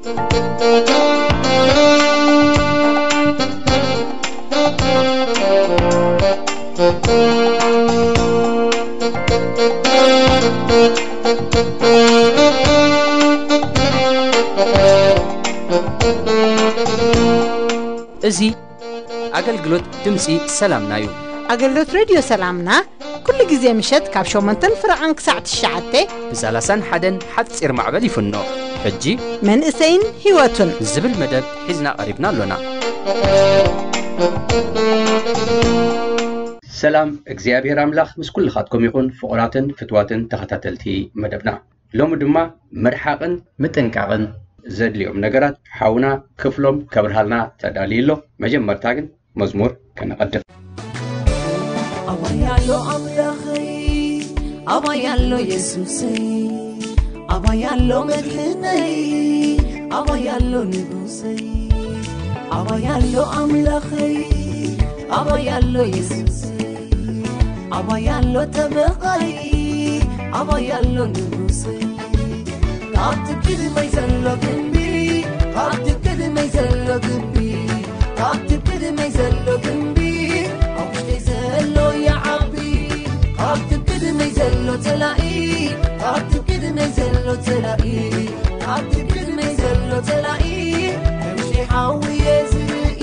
እዚ ኣገልግሎት ድምፂ ሰላምና እዩ። ኣገልግሎት ሬድዮ ሰላምና ኩሉ ግዜ ምሸት ካብ ሸሞንተን ፍረቓን ክሳዕ ትሽዓተ ብሳላሳን ሓደን ሓፂር ማዕበል ይፍኖ። ሕጂ መንእሰይን ህይወቱን ዝብል መደብ ሒዝና ቀሪብና ኣሎና። ሰላም እግዚኣብሔር ኣምላኽ ምስ ኩልኻትኩም ይኹን፣ ፍቑራትን ፍትዋትን ተኸታተልቲ መደብና። ሎሚ ድማ ምርሓቕን ምጥንቃቕን ዘድልዮም ነገራት ሓውና ክፍሎም ከብርሃልና ተዳልዩ ኣሎ። መጀመርታ ግን መዝሙር ከነቐድም። ኣባይ ኣሎ ኣምላኸይ፣ ኣባይ ኣሎ የሱሰይ፣ ኣባይ ኣሎ መድሕነይ፣ ኣባይ ኣሎ ንጉሰይ። ኣባይ ኣሎ ኣምላኸይ፣ ኣባይ ኣሎ የሱሰይ፣ ኣባይ ኣሎ ጠበቓይ፣ ኣባይ ኣሎ ንጉሰይ። ካብቲ ቅድመይ ዘሎ ግንቢ፣ ካብቲ ቅድመይ ዘሎ ግንቢ፣ ካብቲ ቅድመይ ዘሎ ግንቢ፣ ኣብ ውሽጠይ ዘሎ ይዓቢ። ካብቲ ቅድመይ ዘሎ ጸላኢ፣ ካብቲ ቅድመይ ዘሎ ጸላኢ፣ ካብቲ ቅድመይ ዘሎ ጸላኢ፣ ከም ሽሓዊ እየ ዝርኢ።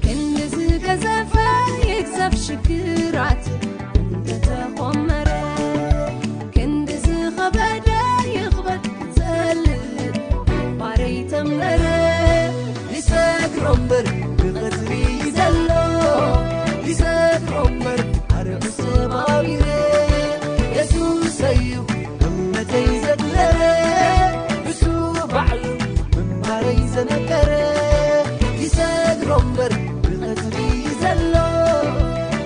ክንዲ ዝገዘፈ ይግዘፍ ሽግራት እንተተኾመረ፣ ክንዲ ዝኸበደ ይኽበድ ዝጸልእ ባረይ ተንበረ። ይሰግሮ እምበር ብቐጽሪ ዘሎ፣ ይሰግሮ እምበር ኣርእዩ ሰባቢረ። የሱሰዩ እምነተይ ዘግለረ፣ እሱ ባዕሉ ምንባረይ ዘነገረ። ይሰግሮ እምበር ብቐጽሪ ዘሎ፣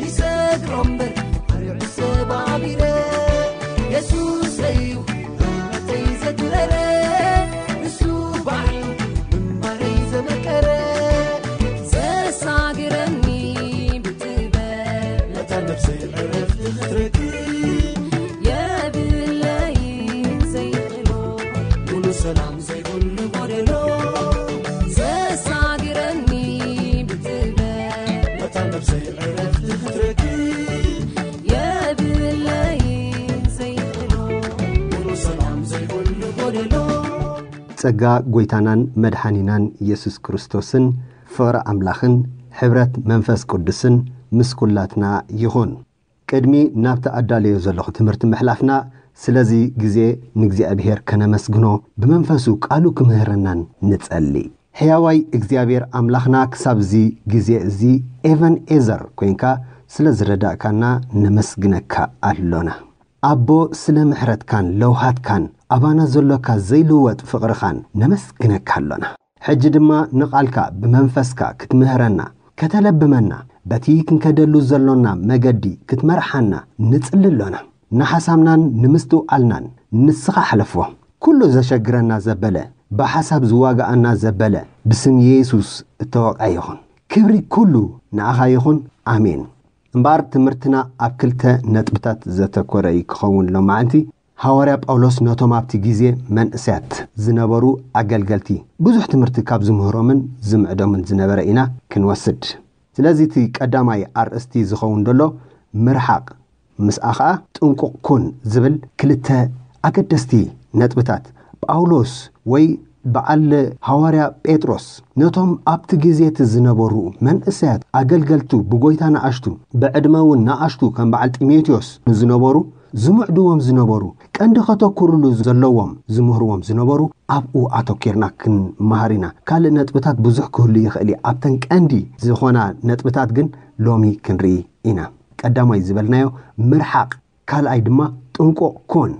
ይሰግሮ እምበር ኣርዑ ሰባቢረ። የሱሰዩ እምነተይ ዘግለረ፣ እሱ ባዕሉ ምንባረይ ዘመቀረ። ዘሳግረኒ ብጥበብ ነታ ነፍሰይ ዕረፍቲ ክትረክብ የብለይን ዘይኽእሎ፣ ሙሉ ሰላም ዘይብሉ ጎደሎ። ዘሳግረኒ ብጥበብ ነታ ነፍሰይ ዕረፍቲ ክትረክብ የብለይን ዘይኽእሎ፣ ሙሉ ሰላም ዘይብሉ ጎደሎ። ጸጋ ጎይታናን መድሓኒናን ኢየሱስ ክርስቶስን ፍቕሪ ኣምላኽን ሕብረት መንፈስ ቅዱስን ምስ ኩላትና ይኹን። ቅድሚ ናብቲ ኣዳለዮ ዘለኹ ትምህርቲ ምሕላፍና፣ ስለዚ ግዜ ንእግዚኣብሔር ከነመስግኖ፣ ብመንፈሱ ቃሉ ክምህረናን ንጸሊ። ሕያዋይ እግዚኣብሔር ኣምላኽና፣ ክሳብ እዚ ግዜ እዚ ኤቨን ኤዘር ኮይንካ ስለ ዝረዳእካና ነመስግነካ ኣሎና። ኣቦ፣ ስለ ምሕረትካን ለውሃትካን፣ ኣባና ዘሎካ ዘይልወጥ ፍቕርኻን ነመስግነካ ኣሎና። ሕጂ ድማ ንቓልካ ብመንፈስካ ክትምህረና፣ ከተለብመና፣ በቲ ክንከደሉ ዘሎና መገዲ ክትመርሓና ንጽሊ ኣሎና። ንሓሳብናን ንምስትውዓልናን ንስኻ ሕለፎ። ኩሉ ዘሸግረና ዘበለ፣ ብሓሳብ ዝዋግኣና ዘበለ፣ ብስም የሱስ እተወቕዐ ይኹን። ክብሪ ኩሉ ንኣኻ ይኹን። ኣሜን። እምበኣር ትምህርትና ኣብ ክልተ ነጥብታት ዘተኮረ እዩ ክኸውን ሎማዕንቲ። ሃዋርያ ጳውሎስ ነቶም ኣብቲ ግዜ መንእሰያት ዝነበሩ ኣገልገልቲ ብዙሕ ትምህርቲ ካብ ዝምህሮምን ዝምዕዶምን ዝነበረ ኢና ክንወስድ። ስለዚ እቲ ቀዳማይ ኣርእስቲ ዝኸውን ዘሎ ምርሓቕ፣ ምስኣ ኸኣ ጥንቁቕ ኩን ዝብል ክልተ ኣገደስቲ ነጥብታት ጳውሎስ ወይ በዓል ሃዋርያ ጴጥሮስ ነቶም ኣብቲ ግዜ እቲ ዝነበሩ መንእሰያት ኣገልገልቱ ብጎይታ ንኣሽቱ፣ ብዕድመ እውን ንኣሽቱ ከም በዓል ጢሞቴዎስ ንዝነበሩ ዝምዕድዎም ዝነበሩ፣ ቀንዲ ከተኩርሉ ዘለዎም ዝምህርዎም ዝነበሩ ኣብኡ ኣተኪርና ክንመሃር ኢና። ካልእ ነጥብታት ብዙሕ ክህሉ ይኽእል እዩ። ኣብተን ቀንዲ ዝኾና ነጥብታት ግን ሎሚ ክንርኢ ኢና። ቀዳማይ ዝበልናዮ ምርሓቕ፣ ካልኣይ ድማ ጥንቁቕ ኩን።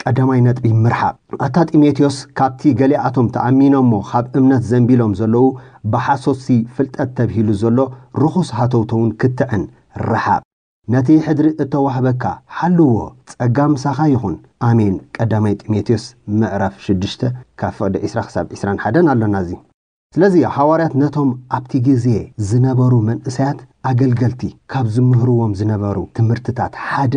ቀዳማይ ነጥቢ ምርሓቕ። ኣታ ጢሞቴዎስ፣ ካብቲ ገሊኣቶም ተኣሚኖሞ ካብ እምነት ዘንቢሎም ዘለዉ ብሓሶትሲ ፍልጠት ተብሂሉ ዘሎ ርኹስ ሃተውተውን ክትዕን ርሓቕ። ነቲ ሕድሪ እተዋህበካ ሓልዎ፣ ጸጋ ምሳኻ ይኹን። ኣሜን። ቀዳማይ ጢሞቴዎስ ምዕራፍ ሽዱሽተ ካብ ፍቕዲ ዕስራ ክሳብ ዕስራን ሓደን ኣሎና እዚ። ስለዚ ሃዋርያት ነቶም ኣብቲ ግዜ ዝነበሩ መንእሰያት ኣገልገልቲ ካብ ዝምህርዎም ዝነበሩ ትምህርትታት ሓደ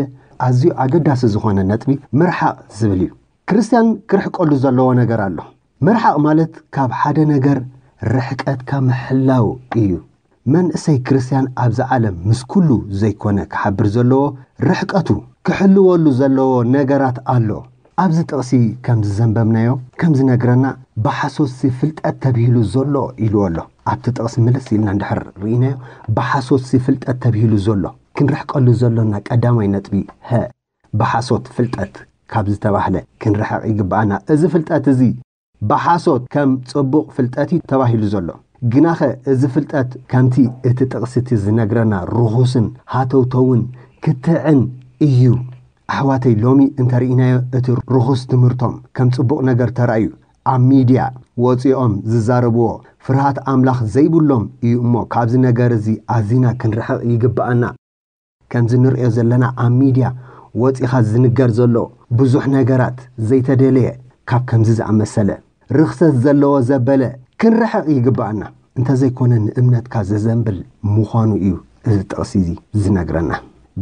ኣዝዩ ኣገዳሲ ዝኾነ ነጥቢ ምርሓቕ ዝብል እዩ። ክርስትያን ክርሕቀሉ ዘለዎ ነገር ኣሎ። ምርሓቕ ማለት ካብ ሓደ ነገር ርሕቀትካ ምሕላው እዩ። መንእሰይ ክርስትያን ኣብዚ ዓለም ምስ ኩሉ ዘይኮነ ክሓብር ዘለዎ፣ ርሕቀቱ ክሕልወሉ ዘለዎ ነገራት ኣሎ። ኣብዚ ጥቕሲ ከም ዝዘንበብናዮ፣ ከም ዝነግረና፣ ብሓሶትሲ ፍልጠት ተብሂሉ ዘሎ ኢልዎ ኣሎ። ኣብቲ ጥቕሲ ምልስ ኢልና እንድሕር ርኢናዮ፣ ብሓሶትሲ ፍልጠት ተብሂሉ ዘሎ፣ ክንርሕቀሉ ዘሎና ቀዳማይ ነጥቢ፣ ሀ፣ ብሓሶት ፍልጠት ካብ ዝተባህለ ክንርሕቕ ይግብኣና። እዚ ፍልጠት እዚ ብሓሶት ከም ጽቡቕ ፍልጠት እዩ ተባሂሉ ዘሎ። ግናኸ እዚ ፍልጠት ከምቲ እቲ ጥቕሲ እቲ ዝነግረና ርኹስን ሃተውተውን ክትዕን እዩ። ኣሕዋተይ፣ ሎሚ እንተርኢናዮ፣ እቲ ርኹስ ትምህርቶም ከም ጽቡቕ ነገር ተራእዩ ኣብ ሚድያ ወጺኦም ዝዛረብዎ፣ ፍርሃት ኣምላኽ ዘይብሎም እዩ። እሞ ካብዚ ነገር እዚ ኣዚና ክንርሕቕ ይግብኣና። ከምዚ ንርእዮ ዘለና ኣብ ሚድያ ወጺኻ ዝንገር ዘሎ ብዙሕ ነገራት ዘይተደለየ፣ ካብ ከምዚ ዝኣመሰለ ርኽሰት ዘለዎ ዘበለ ክንርሕቕ ይግብኣና። እንተዘይኮነ ንእምነትካ ዘዘንብል ምዃኑ እዩ እዚ ጥቕሲ እዚ ዝነግረና።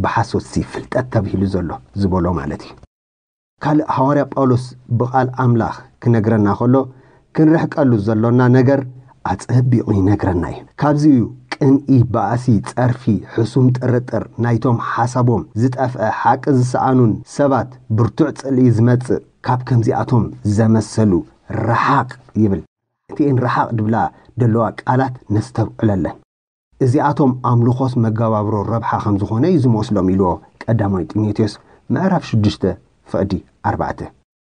ብሓሶትሲ ፍልጠት ተብሂሉ ዘሎ ዝበሎ ማለት እዩ። ካልእ ሃዋርያ ጳውሎስ ብቓል ኣምላኽ ክነግረና ከሎ፣ ክንርሕቀሉ ዘሎና ነገር ኣጸቢቑ ይነግረና እዩ። ካብዚ እዩ ቅንኢ፣ ባእሲ፣ ጸርፊ፣ ሕሱም ጥርጥር፣ ናይቶም ሓሳቦም ዝጠፍአ ሓቂ ዝሰኣኑን ሰባት ብርቱዕ ጽልኢ ዝመጽእ። ካብ ከምዚኣቶም ዘመሰሉ ርሓቕ ይብል። እቲኤን ርሓቕ ድብላ ደለዋ ቃላት ነስተብዕለለን። እዚኣቶም ኣምልኾስ መጋባብሮ ረብሓ ከም ዝኾነ እዩ ዝመስሎም ኢልዎ ቀዳማይ ጢሞቴዎስ ምዕራፍ ሽዱሽተ ፍቕዲ ኣርባዕተ።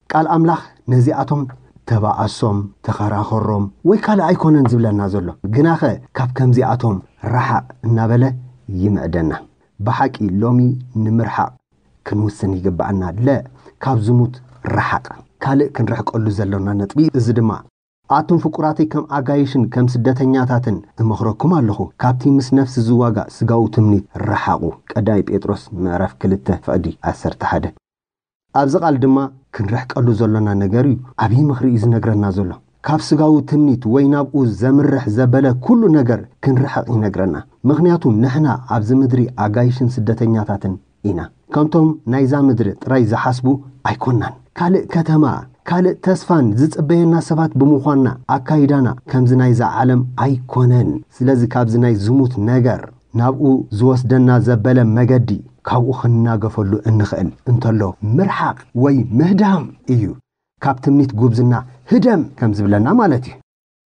ቃል ኣምላኽ ነዚኣቶም ተባኣሶም፣ ተኸራኸሮም ወይ ካልእ ኣይኮነን ዝብለና ዘሎ። ግናኸ ካብ ከምዚኣቶም ረሓቕ እናበለ ይምዕደና። ብሓቂ ሎሚ ንምርሓቕ ክንውስን ይግብኣና። ለ፣ ካብ ዝሙት ረሓቕ። ካልእ ክንርሕቀሉ ዘሎና ነጥቢ እዚ ድማ፣ ኣቱም ፍቁራተይ ከም ኣጋይሽን ከም ስደተኛታትን እመኽረኩም ኣለኹ፣ ካብቲ ምስ ነፍሲ ዝዋጋእ ስጋዊ ትምኒት ረሓቑ። ቀዳማይ ጴጥሮስ ምዕራፍ ክልተ ፍቕዲ ዓሰርተ ሓደ። ኣብዚ ቃል ድማ ክንርሕቀሉ ዘሎና ነገር እዩ። ዓብዪ ምኽሪ እዩ ዝነግረና ዘሎ። ካብ ስጋዊ ትምኒት ወይ ናብኡ ዘምርሕ ዘበለ ኩሉ ነገር ክንርሕቕ ይነግረና። ምኽንያቱ ንሕና ኣብዚ ምድሪ ኣጋይሽን ስደተኛታትን ኢና። ከምቶም ናይዛ ምድሪ ጥራይ ዝሓስቡ ኣይኮናን። ካልእ ከተማ፣ ካልእ ተስፋን ዝጽበየና ሰባት ብምዃንና፣ ኣካይዳና ከምዚ ናይዛ ዓለም ኣይኮነን። ስለዚ ካብዚ ናይ ዝሙት ነገር፣ ናብኡ ዝወስደና ዘበለ መገዲ፣ ካብኡ ክንናገፈሉ እንኽእል እንተሎ፣ ምርሓቕ ወይ ምህዳም እዩ። ካብ ትምኒት ጉብዝና ህደም ከም ዝብለና ማለት እዩ።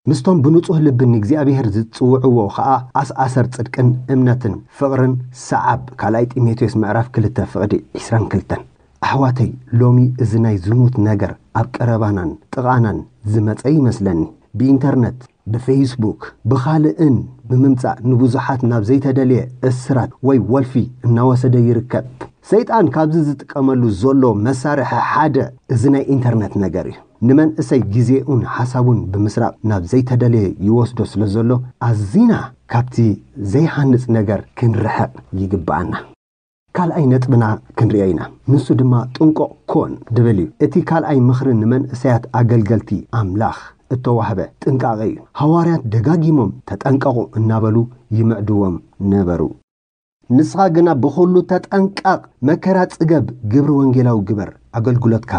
ምስቶም ብንጹህ ልቢ ንእግዚኣብሔር ዝጽውዕዎ ኸኣ ኣስኣሰር ጽድቅን እምነትን ፍቕርን ሰዓብ። ካልኣይ ጢሞቴዎስ ምዕራፍ ክልተ ፍቕዲ ዕስራን ክልተን። ኣሕዋተይ፣ ሎሚ እዚ ናይ ዝሙት ነገር ኣብ ቀረባናን ጥቓናን ዝመጸ ይመስለኒ። ብኢንተርነት፣ ብፌስቡክ፣ ብኻልእን ብምምጻእ ንብዙሓት ናብ ዘይተደልየ እስራት ወይ ወልፊ እናወሰደ ይርከብ። ሰይጣን ካብዚ ዝጥቀመሉ ዘሎ መሳርሒ ሓደ እዚ ናይ ኢንተርነት ነገር እዩ። ንመንእሰይ ግዜኡን ሓሳቡን ብምስራቕ ናብ ዘይተደለየ ይወስዶ ስለ ዘሎ፣ ኣዚና ካብቲ ዘይሃንጽ ነገር ክንርሕቕ ይግብኣና። ካልኣይ ነጥብና ክንርእዮ ኢና። ንሱ ድማ ጥንቁቕ ኩን ድብል እዩ። እቲ ካልኣይ ምኽሪ ንመንእሰያት ኣገልገልቲ ኣምላኽ እተዋህበ ጥንቃቐ እዩ። ሃዋርያት ደጋጊሞም ተጠንቀቑ እናበሉ ይምዕድዎም ነበሩ። ንስኻ ግና ብኹሉ ተጠንቀቕ፣ መከራ ጽገብ፣ ግብሪ ወንጌላዊ ግበር፣ ኣገልግሎትካ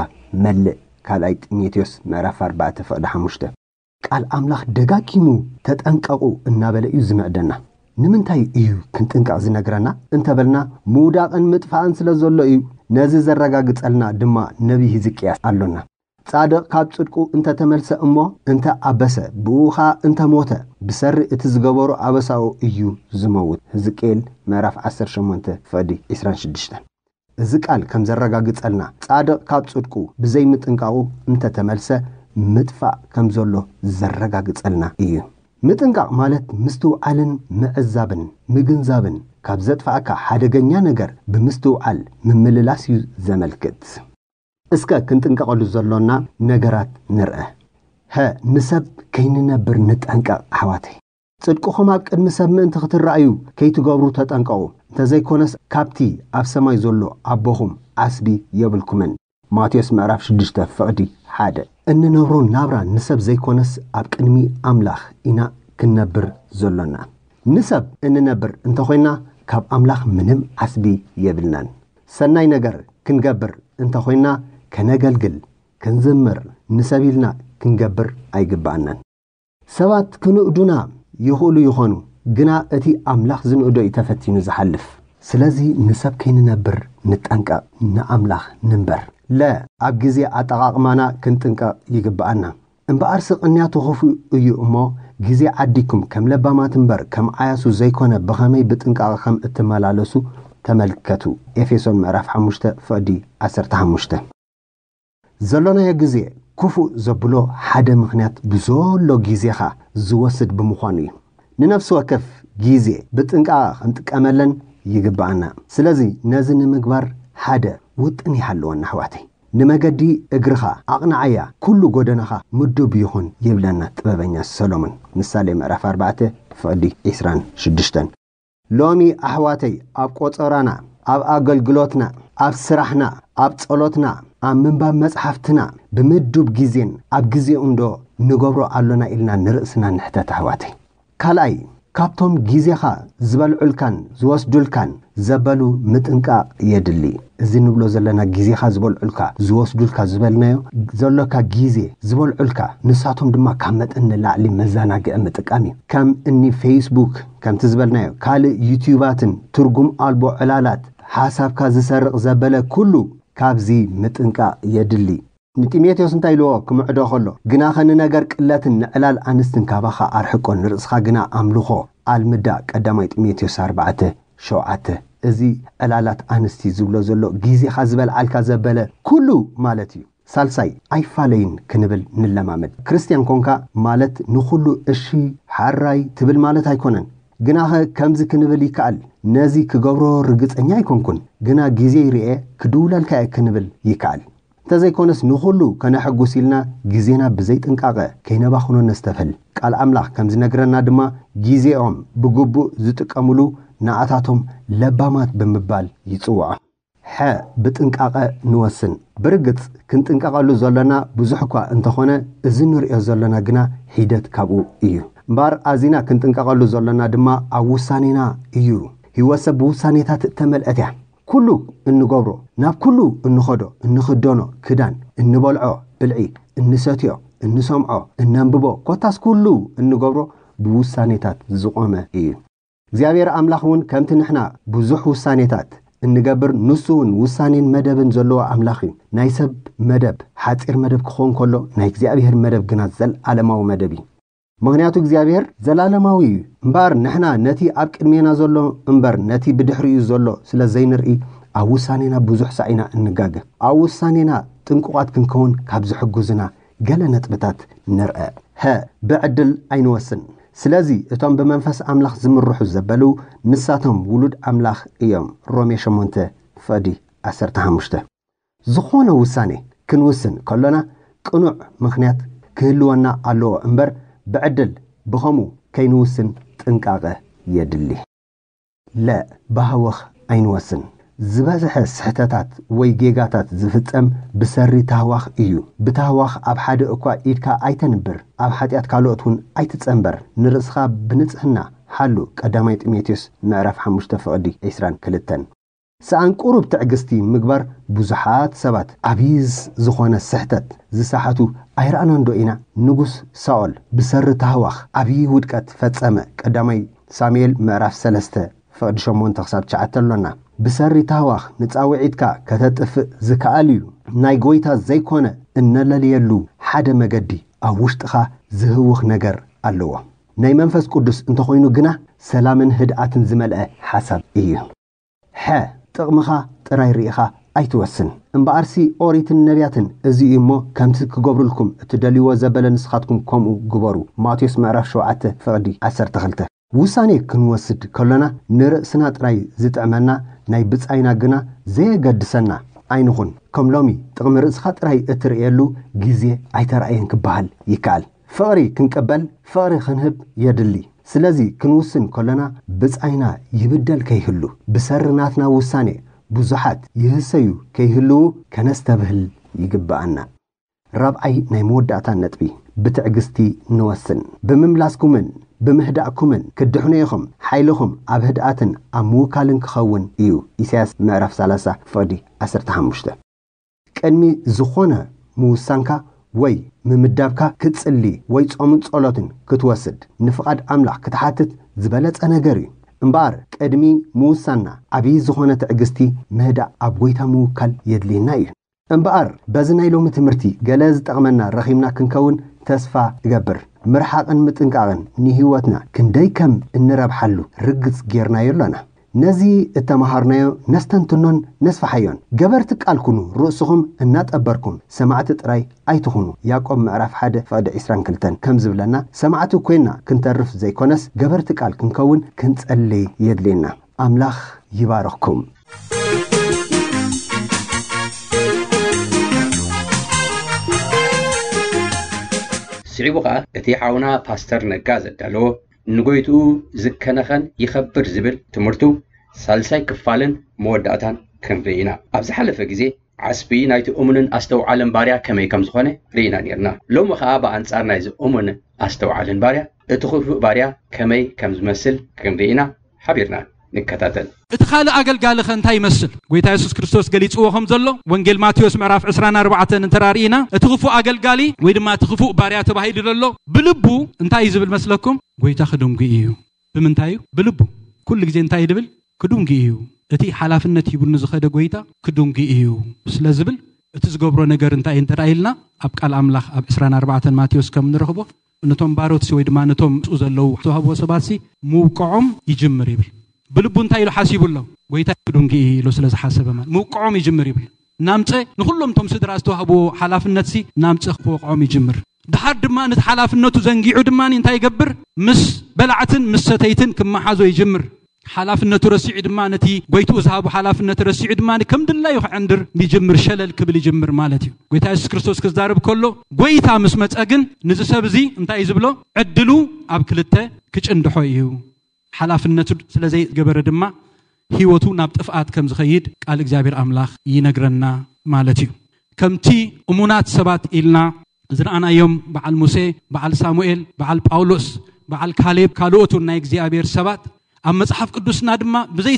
መልእ። ካልኣይ ጢሞቴዎስ ምዕራፍ ኣርባዕተ ፍቕዲ ሓሙሽተ። ቃል ኣምላኽ ደጋጊሙ ተጠንቀቑ እናበለ እዩ ዝምዕደና። ንምንታይ እዩ ክንጥንቀቕ ዝነግረና እንተበልና፣ ምውዳቕን ምጥፋእን ስለ ዘሎ እዩ። ነዚ ዘረጋግጸልና ድማ ነቢይ ህዝቅያስ ኣሎና። ጻድቕ ካብ ጽድቁ እንተ ተመልሰ እሞ እንተ ኣበሰ፣ ብኡ ኸኣ እንተ ሞተ፣ ብሰሪ እቲ ዝገበሮ ኣበሳኡ እዩ ዝመውት። ህዝቅኤል ምዕራፍ ዓሰርተ ሸሞንተ ፍቕዲ ዕስራን ሽዱሽተን። እዚ ቃል ከም ዘረጋግጸልና፣ ጻድቕ ካብ ጽድቁ ብዘይ ምጥንቃቑ እንተ ተመልሰ፣ ምጥፋእ ከም ዘሎ ዘረጋግጸልና እዩ። ምጥንቃቕ ማለት ምስትውዓልን ምዕዛብን ምግንዛብን፣ ካብ ዘጥፍኣካ ሓደገኛ ነገር ብምስትውዓል ምምልላስ እዩ ዘመልክት። እስከ ክንጥንቀቐሉ ዘሎና ነገራት ንርአ። ሀ፣ ንሰብ ከይንነብር ንጠንቀቕ ኣሕዋተይ። ጽድቅኹም ኣብ ቅድሚ ሰብ ምእንቲ ክትረኣዩ ከይትገብሩ ተጠንቀቑ። እንተዘይኮነስ ካብቲ ኣብ ሰማይ ዘሎ ኣቦኹም ዓስቢ የብልኩምን። ማቴዎስ ምዕራፍ ሽዱሽተ ፍቕዲ ሓደ። እንነብሮ ናብራ ንሰብ ዘይኮነስ ኣብ ቅድሚ ኣምላኽ ኢና ክንነብር ዘሎና። ንሰብ እንነብር እንተኾይና ካብ ኣምላኽ ምንም ዓስቢ የብልናን። ሰናይ ነገር ክንገብር እንተኾይንና፣ ከነገልግል፣ ክንዝምር፣ ንሰብ ኢልና ክንገብር ኣይግብኣናን። ሰባት ክንእዱና ይኽእሉ ይኾኑ፣ ግና እቲ ኣምላኽ ዝንእዶ እዩ ተፈቲኑ ዝሓልፍ። ስለዚ ንሰብ ከይንነብር ንጠንቀቕ፣ ንኣምላኽ ንንበር። ለ፣ ኣብ ግዜ ኣጠቓቕማና ክንጥንቀቕ ይግብኣና። እምበኣርሲ ቅንያቱ ክፉእ እዩ እሞ፣ ግዜ ዓዲኩም ከም ለባማት እምበር ከም ዓያሱ ዘይኮነ ብኸመይ ብጥንቃቐ ከም እትመላለሱ ተመልከቱ። ኤፌሶን ምዕራፍ ሓሙሽተ ፍቕዲ ዓሰርተ ሓሙሽተ። ዘሎናዮ ግዜ ክፉእ ዘብሎ ሓደ ምኽንያት ብዘሎ ግዜኻ ዝወስድ ብምዃኑ እዩ። ንነፍሲ ወከፍ ግዜ ብጥንቃቐ ክንጥቀመለን ይግብኣና። ስለዚ ነዚ ንምግባር ሓደ ውጥን ይሃልወና ኣሕዋተይ። ንመገዲ እግርኻ ኣቕንዓያ፣ ኩሉ ጎደናኻ ምዱብ ይኹን ይብለና ጥበበኛ ሰሎሞን። ምሳሌ ምዕራፍ ኣርባዕተ ፍቕዲ ዒስራን ሽዱሽተን። ሎሚ ኣሕዋተይ ኣብ ቆጸራና፣ ኣብ ኣገልግሎትና፣ ኣብ ስራሕና፣ ኣብ ጸሎትና፣ ኣብ ምንባብ መጽሓፍትና ብምዱብ ግዜን ኣብ ግዜኡንዶ ንገብሮ ኣሎና ኢልና ንርእስና ንሕተት ኣሕዋተይ። ካልኣይ፣ ካብቶም ግዜኻ ዝበልዑልካን ዝወስዱልካን ዘበሉ ምጥንቃቕ የድሊ። እዚ ንብሎ ዘለና ግዜኻ ዝበልዑልካ፣ ዝወስዱልካ ዝበልናዮ ዘሎካ ግዜ ዝበልዑልካ፣ ንሳቶም ድማ ካብ መጠን ንላዕሊ መዘናግዒ ምጥቃም እዩ። ከም እኒ ፌስቡክ፣ ከምቲ ዝበልናዮ ካልእ ዩትዩባትን ትርጉም ኣልቦ ዕላላት ሓሳብካ ዝሰርቕ ዘበለ ኩሉ ካብዚ ምጥንቃቕ የድሊ። ንጢሞቴዎስ እንታይ ኢልዎ ክምዕዶ ከሎ፣ ግናኸ ንነገር ቅለትን ንዕላል ኣንስትን ካባኻ ኣርሕቆ፣ ንርእስኻ ግና ኣምልኾ ኣልምዳ። ቀዳማይ ጢሞቴዎስ ኣርባዕተ ሸውዓተ። እዚ ዕላላት ኣንስቲ ዝብሎ ዘሎ ግዜኻ ዝበልዓልካ ዘበለ ኩሉ ማለት እዩ። ሳልሳይ፣ ኣይፋለይን ክንብል ንለማመድ። ክርስትያን ኮንካ ማለት ንኹሉ እሺ ሓራይ ትብል ማለት ኣይኮነን። ግናኸ ከምዚ ክንብል ይከኣል፣ ነዚ ክገብሮ ርግጸኛ ኣይኮንኩን፣ ግና ግዜ ይርኤ ክድውለልካ እየ ክንብል ይከኣል። እንተዘይኮነስ ንኹሉ ከነሐጉስ ኢልና ግዜና ብዘይጥንቃቐ ከይነባኽኖ ነስተብህል። ቃል ኣምላኽ ከም ዝነግረና ድማ ግዜኦም ብግቡእ ዝጥቀምሉ ንኣታቶም ለባማት ብምባል ይጽውዖ። ሐ፣ ብጥንቃቐ ንወስን። ብርግጽ ክንጥንቀቐሉ ዘሎና ብዙሕ እኳ እንተኾነ፣ እዚ ንርእዮ ዘሎና ግና ሒደት ካብኡ እዩ። እምበኣር ኣዚና ክንጥንቀቐሉ ዘሎና ድማ ኣብ ውሳኔና እዩ። ህይወት ሰብ ብውሳኔታት እተመልአት እያ። ኩሉ እንገብሮ፣ ናብ ኩሉ እንኸዶ፣ እንኽደኖ ክዳን፣ እንበልዖ ብልዒ፣ እንሰትዮ፣ እንሰምዖ፣ እነንብቦ፣ ኮታስ ኩሉ እንገብሮ ብውሳኔታት ዝቖመ እዩ። እግዚኣብሔር ኣምላኽ እውን ከምቲ ንሕና ብዙሕ ውሳኔታት እንገብር፣ ንሱ እውን ውሳኔን መደብን ዘለዎ ኣምላኽ እዩ። ናይ ሰብ መደብ ሓጺር መደብ ክኸውን ከሎ፣ ናይ እግዚኣብሔር መደብ ግና ዘለዓለማዊ መደብ እዩ። ምኽንያቱ እግዚኣብሔር ዘላለማዊ እዩ። እምበኣር ንሕና ነቲ ኣብ ቅድሜና ዘሎ እምበር ነቲ ብድሕሪኡ ዘሎ ስለ ዘይንርኢ፣ ኣብ ውሳኔና ብዙሕ ሳዕ ኢና እንጋገ። ኣብ ውሳኔና ጥንቁቓት ክንከውን ካብ ዝሕግዙና ገለ ነጥብታት ንርአ። ሀ፣ ብዕድል ኣይንወስን። ስለዚ እቶም ብመንፈስ ኣምላኽ ዝምርሑ ዘበሉ፣ ንሳቶም ውሉድ ኣምላኽ እዮም። ሮሜ ሸሞንተ ፍቕዲ ዓሰርተ ሓሙሽተ። ዝኾነ ውሳኔ ክንውስን ከሎና ቅኑዕ ምኽንያት ክህልወና ኣለዎ እምበር፣ ብዕድል ብኸምኡ ከይንውስን ጥንቃቐ የድሊ። ለ፣ ብሃወኽ ኣይንወስን። ዝበዝሐ ስሕተታት ወይ ጌጋታት ዝፍጸም ብሰሪ ታህዋኽ እዩ። ብታህዋኽ ኣብ ሓደ እኳ ኢድካ ኣይተንብር፣ ኣብ ሓጢኣት ካልኦት እውን ኣይትጸንበር። ንርእስኻ ብንጽህና ሓሉ። ቀዳማይ ጢሞቴዎስ ምዕራፍ ሓሙሽተ ፍቕዲ ዕስራን ክልተን። ሰኣን ቁሩብ ትዕግስቲ ምግባር ብዙሓት ሰባት ዓብዪ ዝኾነ ስሕተት ዝሰሓቱ ኣይረኣናን ዶ ኢና? ንጉስ ሳኦል ብሰሪ ታህዋኽ ዓብዪ ውድቀት ፈጸመ። ቀዳማይ ሳሙኤል ምዕራፍ ሰለስተ ፍቕዲ ሸሞንተ ክሳብ ትሽዓተ ኣሎና። ብሰሪ ታህዋኽ ንጻውዒትካ ከተጥፍእ ዝከኣል እዩ። ናይ ጎይታ ዘይኮነ እነለልየሉ ሓደ መገዲ ኣብ ውሽጥኻ ዝህውኽ ነገር ኣለዎ። ናይ መንፈስ ቅዱስ እንተኾይኑ ግና ሰላምን ህድኣትን ዝመልአ ሓሳብ እዩ። ሐ፣ ጥቕምኻ ጥራይ ርኢኻ ኣይትወስን። እምበኣርሲ ኦሪትን ነቢያትን እዚ እዩ እሞ፣ ከምቲ ክገብሩልኩም እትደልይዎ ዘበለ ንስኻትኩም ከምኡ ግበሩ። ማቴዎስ ምዕራፍ ሸውዓተ ፍቕዲ ዓሰርተ ክልተ። ውሳኔ ክንወስድ ከሎና ንርእስና ጥራይ ዝጥዕመና ናይ ብጻይና ግና ዘየገድሰና ኣይንኹን። ከም ሎሚ ጥቕሚ ርእስኻ ጥራይ እትርእየሉ ግዜ ኣይተራእየን ክበሃል ይከኣል። ፍቕሪ ክንቅበል፣ ፍቕሪ ክንህብ የድሊ። ስለዚ ክንውስን ከሎና ብጻይና ይብደል ከይህሉ፣ ብሰሪ ናትና ውሳኔ ብዙሓት ይህሰዩ ከይህልዉ ከነስተብህል ይግብኣና። ራብዓይ ናይ መወዳእታ ነጥቢ፣ ብትዕግስቲ ንወስን። ብምምላስኩምን ብምህዳእኩምን ክትድሕኑ ኢኹም። ሓይልኹም ኣብ ህድኣትን ኣብ ምውካልን ክኸውን እዩ። ኢሳያስ ምዕራፍ ሰላሳ ፍቕዲ ዓሰርተ ሓሙሽተ። ቅድሚ ዝኾነ ምውሳንካ ወይ ምምዳብካ ክትጽሊ ወይ ጾምን ጸሎትን ክትወስድ ንፍቓድ ኣምላኽ ክትሓትት ዝበለጸ ነገር እዩ። እምበኣር ቅድሚ ምውሳንና ዓብዪ ዝኾነ ትዕግስቲ ምህዳእ ኣብ ጎይታ ምውካል የድልየና እዩ። እምበኣር በዚ ናይ ሎሚ ትምህርቲ ገለ ዝጠቕመና ረኺብና ክንከውን ተስፋ እገብር። ምርሓቕን ምጥንቃቕን ንህይወትና ክንደይ ከም እንረብሓሉ ርግጽ ጌርናዮ ኣሎና። ነዚ እተመሃርናዮ ነስተንትኖን ነስፍሓዮን። ገበርቲ ቃል ኩኑ፣ ርእስኹም እናጠበርኩም ሰማዕቲ ጥራይ ኣይትኹኑ። ያዕቆብ ምዕራፍ ሓደ ፍቕዲ ዕስራን ክልተን ከም ዝብለና፣ ሰማዕቲ ኮይና ክንተርፍ ዘይኮነስ ገበርቲ ቃል ክንከውን ክንጸልይ የድልየና። ኣምላኽ ይባርኽኩም። ስዒቡ ኸኣ እቲ ሓውና ፓስተር ነጋ ዘዳለዎ ንጎይትኡ ዝከነኸን ይኸብር ዝብል ትምህርቱ ሳልሳይ ክፋልን መወዳእታን ክንርኢ ኢና። ኣብ ዝሓለፈ ግዜ ዓስቢ ናይቲ እሙንን ኣስተውዓልን ባርያ ከመይ ከም ዝኾነ ርኢና ኔርና። ሎሚ ኸኣ ብኣንጻር ናይዚ እሙን ኣስተውዓልን ባርያ እቲ ክፉእ ባርያ ከመይ ከም ዝመስል ክንርኢ ኢና። ሓቢርና ንከታተል። እቲ ካልእ ኣገልጋሊ ኸ እንታይ ይመስል? ጎይታ የሱስ ክርስቶስ ገሊጽዎ ከም ዘሎ፣ ወንጌል ማቴዎስ ምዕራፍ ዕስራን ኣርባዕተን እንተ ርኢና፣ እቲ ክፉእ ኣገልጋሊ ወይ ድማ እቲ ክፉእ ባርያ ተባሂሉ ዘሎ፣ ብልቡ እንታይ እዩ ዝብል መስለኩም? ጎይታ ክድንጉ እዩ። ብምንታይ እዩ? ብልቡ። ኩሉ ግዜ እንታይ እዩ ድብል? ክድንጉ እዩ። እቲ ሓላፍነት ሂቡኒ ዝኸደ ጎይታ ክድንጉ እዩ ስለ ዝብል፣ እቲ ዝገብሮ ነገር እንታይ እዩ እንተ ኢልና፣ ኣብ ቃል ኣምላኽ ኣብ ዕስራን ኣርባዕተን ማቴዎስ ከም ንረኽቦ፣ ነቶም ባሮትሲ ወይ ድማ ነቶም ምስኡ ዘለዉ ዝተዋህብዎ ሰባትሲ ምውቅዖም ይጅምር ይብል። ብልቡ እንታይ ኢሉ ሓሲቡ ኣሎ? ጎይታ ክድንጉ እዩ ኢሉ ስለ ዝሓሰበ ማለት ምውቅዖም ይጅምር ይብል። ናምፀ ንኹሎም እቶም ስድራ ዝተዋህብዎ ሓላፍነትሲ ናምፀ ክወቅዖም ይጅምር። ድሓር ድማ ነቲ ሓላፍነቱ ዘንጊዑ ድማ እንታይ ይገብር? ምስ በላዕትን ምስ ሰተይትን ክመሓዞ ይጅምር። ሓላፍነቱ ረሲዑ ድማ ነቲ ጎይትኡ ዝሃቡ ሓላፍነት ረሲዑ ድማ ከም ድላዩ ክዕንድር ይጅምር፣ ሸለል ክብል ይጅምር ማለት እዩ። ጎይታ የሱስ ክርስቶስ ክዛረብ ከሎ ጎይታ ምስ መጸ ግን ንዚ ሰብ እዚ እንታይ እዩ ዝብሎ? ዕድሉ ኣብ ክልተ ክጭንድሖ እዩ። ሓላፍነቱ ስለ ዘይገበረ ድማ ህይወቱ ናብ ጥፍኣት ከም ዝኸይድ ቃል እግዚኣብሔር ኣምላኽ ይነግረና ማለት እዩ። ከምቲ እሙናት ሰባት ኢልና ዝረኣናዮም በዓል ሙሴ፣ በዓል ሳሙኤል፣ በዓል ጳውሎስ፣ በዓል ካሌብ፣ ካልኦት እውን ናይ እግዚኣብሔር ሰባት ኣብ መጽሓፍ ቅዱስና ድማ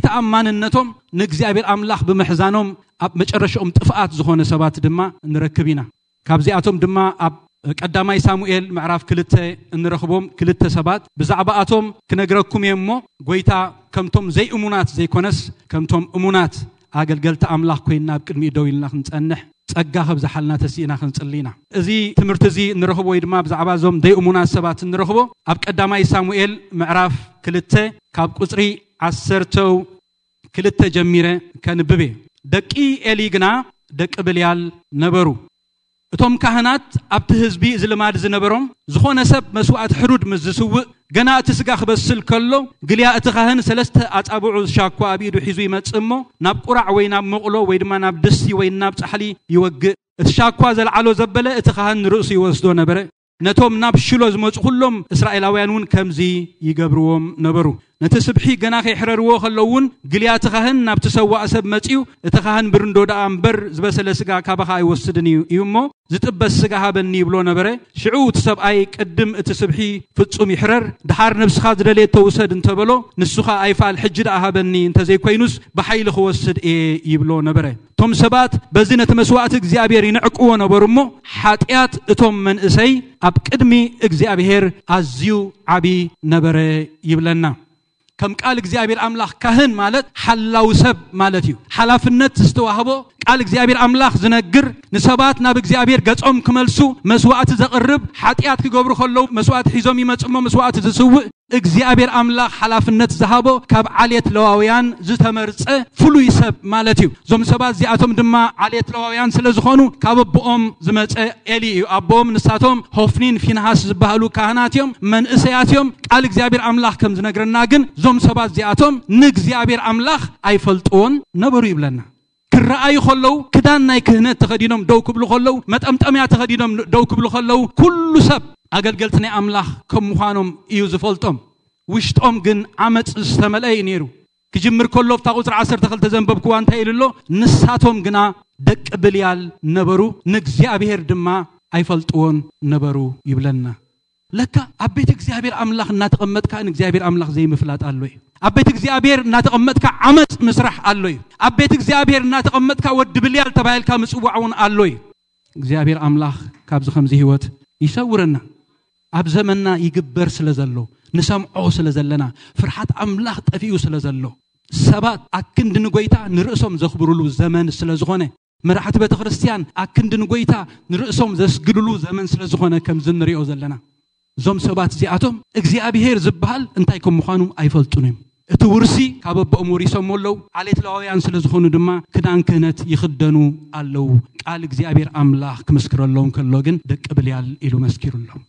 ብዘይተኣማንነቶም ንእግዚኣብሔር ኣምላኽ ብምሕዛኖም ኣብ መጨረሻኦም ጥፍኣት ዝኾነ ሰባት ድማ ንረክብ ኢና። ካብዚኣቶም ድማ ኣብ ቀዳማይ ሳሙኤል ምዕራፍ ክልተ እንረኽቦም ክልተ ሰባት ብዛዕባኣቶም ክነግረኩም እየ እሞ፣ ጎይታ ከምቶም ዘይእሙናት ዘይኮነስ ከምቶም እሙናት ኣገልገልቲ ኣምላኽ ኮይንና ኣብ ቅድሚኡ ደው ኢልና ክንጸንሕ ጸጋ ከብዝሓልና ተሲእና ክንጽሊ ኢና። እዚ ትምህርቲ እዚ እንረኽቦ ወይ ድማ ብዛዕባ እዞም ዘይእሙናት ሰባት እንረኽቦ ኣብ ቀዳማይ ሳሙኤል ምዕራፍ ክልተ ካብ ቁጽሪ ዓሰርተው ክልተ ጀሚረ ከንብብ እየ። ደቂ ኤሊ ግና ደቂ ብልያል ነበሩ። እቶም ካህናት ኣብቲ ህዝቢ እዚ ልማድ ዝነበሮም፣ ዝኾነ ሰብ መስዋእቲ ሕሩድ ምስ ዝስውእ፣ ገና እቲ ስጋ ክበስል ከሎ፣ ግልያ እቲ ካህን ሰለስተ ኣጻብዑ ሻኳ ኣብ ኢዱ ሒዙ ይመጽእ እሞ፣ ናብ ቁራዕ ወይ ናብ መቑሎ ወይ ድማ ናብ ድስቲ ወይ ናብ ጻሕሊ ይወግእ። እቲ ሻኳ ዘልዓሎ ዘበለ እቲ ካህን ንርእሱ ይወስዶ ነበረ። ነቶም ናብ ሽሎ ዝመጹ ኩሎም እስራኤላውያን እውን ከምዚ ይገብርዎም ነበሩ። ነቲ ስብሒ ገና ከይሕረርዎ ከለዉ እውን፣ ግልያ እቲ ካህን ናብቲ ሰዋእ ሰብ መጺኡ፣ እቲ ካህን ብርንዶ ደኣ እምበር ዝበሰለ ስጋ ካባኻ ኣይወስድን እዩ፣ እዩ እሞ፣ ዝጥበስ ስጋ ሃበኒ ይብሎ ነበረ። ሽዑ እቲ ሰብኣይ ቅድም እቲ ስብሒ ፍጹም ይሕረር፣ ደሓር ነብስኻ ዝደለየቶ ውሰድ እንተበሎ፣ ንሱ ኸኣ ኣይፋል፣ ሕጂ ደኣ ሃበኒ፣ እንተዘይኮይኑስ ብሓይሊ ክወስድ እየ ይብሎ ነበረ። እቶም ሰባት በዚ ነቲ መስዋእቲ እግዚኣብሔር ይንዕቅዎ ነበሩ እሞ፣ ሓጢኣት እቶም መንእሰይ ኣብ ቅድሚ እግዚኣብሔር ኣዝዩ ዓቢ ነበረ ይብለና። ከም ቃል እግዚኣብሔር ኣምላኽ ካህን ማለት ሓላው ሰብ ማለት እዩ። ሓላፍነት ዝተዋህቦ ቃል እግዚኣብሔር ኣምላኽ ዝነግር፣ ንሰባት ናብ እግዚኣብሔር ገጾም ክመልሱ መስዋእቲ ዘቕርብ፣ ሓጢኣት ክገብሩ ከለዉ መስዋእቲ ሒዞም ይመጹ እሞ መስዋእቲ ዝስውእ፣ እግዚኣብሔር ኣምላኽ ሓላፍነት ዝሃቦ ካብ ዓሌት ለዋውያን ዝተመርጸ ፍሉይ ሰብ ማለት እዩ። እዞም ሰባት እዚኣቶም ድማ ዓሌት ለዋውያን ስለ ዝኾኑ ካብ ኣቦኦም ዝመጸ ኤሊ እዩ። ኣቦኦም ንሳቶም ሆፍኒን ፊንሃስ ዝበሃሉ ካህናት እዮም፣ መንእሰያት እዮም። ቃል እግዚኣብሔር ኣምላኽ ከም ዝነግረና ግን እዞም ሰባት እዚኣቶም ንእግዚኣብሔር ኣምላኽ ኣይፈልጥዎን ነበሩ ይብለና። ክረኣዩ ከለዉ ክዳን ናይ ክህነት ተኸዲኖም ደው ክብሉ ከለዉ፣ መጠምጠምያ ተኸዲኖም ደው ክብሉ ከለዉ፣ ኩሉ ሰብ ኣገልገልቲ ናይ ኣምላኽ ከም ምዃኖም እዩ ዝፈልጦም። ውሽጦም ግን ዓመጽ ዝተመልአ እዩ ነይሩ። ክጅምር ከሎ ኣብታ ቁጽሪ ዓሰርተ ክልተ ዘንበብክዋ እንታይ ኢሉ ኣሎ? ንሳቶም ግና ደቂ ብልያል ነበሩ፣ ንእግዚኣብሔር ድማ ኣይፈልጥዎን ነበሩ ይብለና። ለካ ኣብ ቤት እግዚኣብሔር ኣምላኽ እናተቐመጥካ ንእግዚኣብሔር ኣምላኽ ዘይምፍላጥ ኣሎ እዩ። ኣብ ቤት እግዚኣብሔር እናተቐመጥካ ዓመፅ ምስራሕ ኣሎ እዩ። ኣብ ቤት እግዚኣብሔር እናተቐመጥካ ወዲ ብልያል ተባሂልካ ምፅዋዕ እውን ኣሎ እዩ። እግዚኣብሔር ኣምላኽ ካብዚ ከምዚ ህይወት ይሰውረና። ኣብ ዘመንና ይግበር ስለ ዘሎ፣ ንሰምዖ ስለ ዘለና፣ ፍርሓት ኣምላኽ ጠፊኡ ስለ ዘሎ፣ ሰባት ኣክንዲ ንጎይታ ንርእሶም ዘኽብሩሉ ዘመን ስለ ዝኾነ፣ መራሕቲ ቤተ ክርስቲያን ኣክንዲ ንጎይታ ንርእሶም ዘስግድሉ ዘመን ስለ ዝኾነ፣ ከምዚ ንሪኦ ዘለና፣ እዞም ሰባት እዚኣቶም እግዚኣብሔር ዝበሃል እንታይ ከም ምዃኑ ኣይፈልጡን እዮም። እቲ ውርሲ ካብ ኣቦኦም ወሪሶም ኣለዉ። ዓሌት ለዋውያን ስለ ዝኾኑ ድማ ክዳን ክህነት ይኽደኑ ኣለዉ። ቃል እግዚኣብሔር ኣምላኽ ክምስክረሎም ከሎ ግን ደቂ ብልያል ኢሉ መስኪሩሎም።